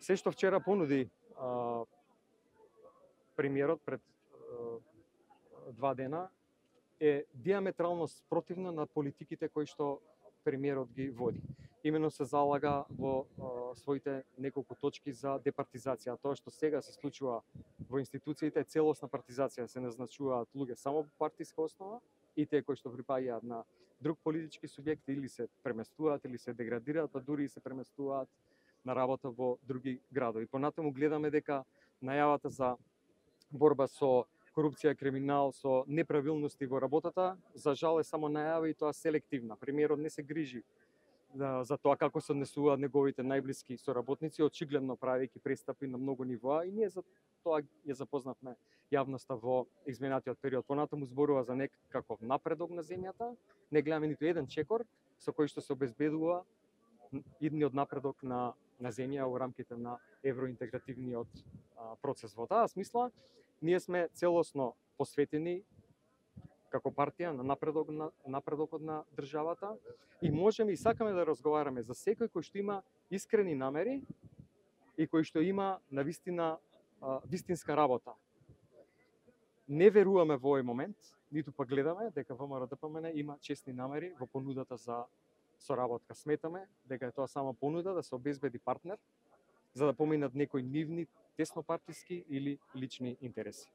Се што вчера понуди премиерот пред 2 дена е диаметрално спротивно на политиките кои што премиерот ги води. Имено се залага во своите неколку точки за департизација. Тоа што сега се случува во институциите е целосна партизација, се назначуваат луѓе само по партиска основа и тие кои што припаѓаат на друг политички субјект или се преместуваат или се деградираат, па дури и се преместуваат на работа во други градови. Понатаму гледаме дека најавата за борба со корупција, криминал, со неправилности во работата, за жал е само најава и тоа селективна. Премиерот не се грижи за тоа како се однесуваат неговите најблиски соработници, очигледно правејќи престапи на многу нивоа, и ние за тоа ја запознавме јавноста во изминатиот период. Понатаму зборува за некаков напредок на земјата, не гледаме ниту еден чекор со кој што се обезбедува идниот напредок на земја во рамките на евроинтегративниот процес. Во таа смисла, ние сме целосно посветени како партија на напредокот на државата и можеме и сакаме да разговараме за секој кој што има искрени намери и кој што има навистина вистинска работа. Не веруваме во овој момент, ниту па гледаме дека ВМРО-ДПМН има честни намери во понудата за соработка. Сметаме дека е тоа само понуда да се обезбеди партнер за да поминат некои нивни теснопартиски или лични интереси.